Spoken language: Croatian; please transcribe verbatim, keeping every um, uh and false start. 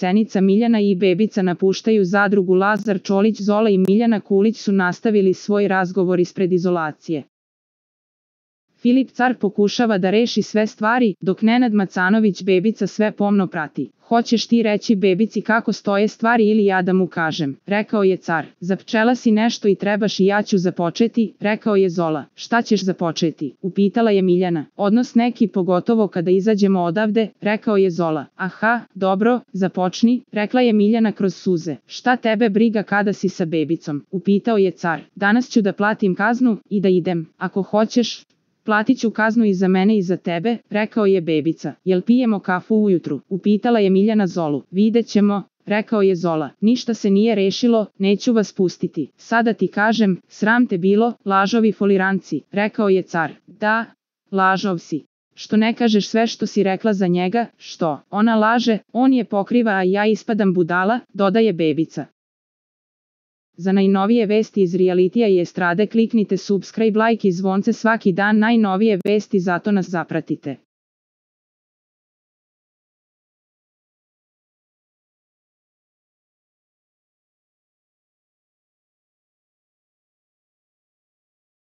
Cenica, Miljana i Bebica napuštaju zadrugu. Lazar Čolić, Zola i Miljana Kulić su nastavili svoj razgovor ispred izolacije. Filip Car pokušava da reši sve stvari, dok Nenad Macanović Bebica sve pomno prati. Hoćeš ti reći Bebici kako stoje stvari ili ja da mu kažem, rekao je Car. Zapčela si nešto i trebaš i ja ću započeti, rekao je Zola. Šta ćeš započeti, upitala je Miljana. Odnos neki, pogotovo kada izađemo odavde, rekao je Zola. Aha, dobro, započni, rekla je Miljana kroz suze. Šta tebe briga kada si sa Bebicom, upitao je Car. Danas ću da platim kaznu i da idem, ako hoćeš. Platit ću kaznu i za mene i za tebe, rekao je Bebica. Jel pijemo kafu ujutru, upitala je Miljana Zolu. Vidjet ćemo, rekao je Zola. Ništa se nije rešilo, neću vas pustiti. Sada ti kažem, sram te bilo, lažovi foliranci, rekao je Car. Da, lažov si. Što ne kažeš sve što si rekla za njega, što? Ona laže, on je pokriva, a ja ispadam budala, dodaje Bebica. Za najnovije vesti iz realitija i estrade kliknite subscribe, like i zvonce svaki dan. Najnovije vesti, zato nas zapratite.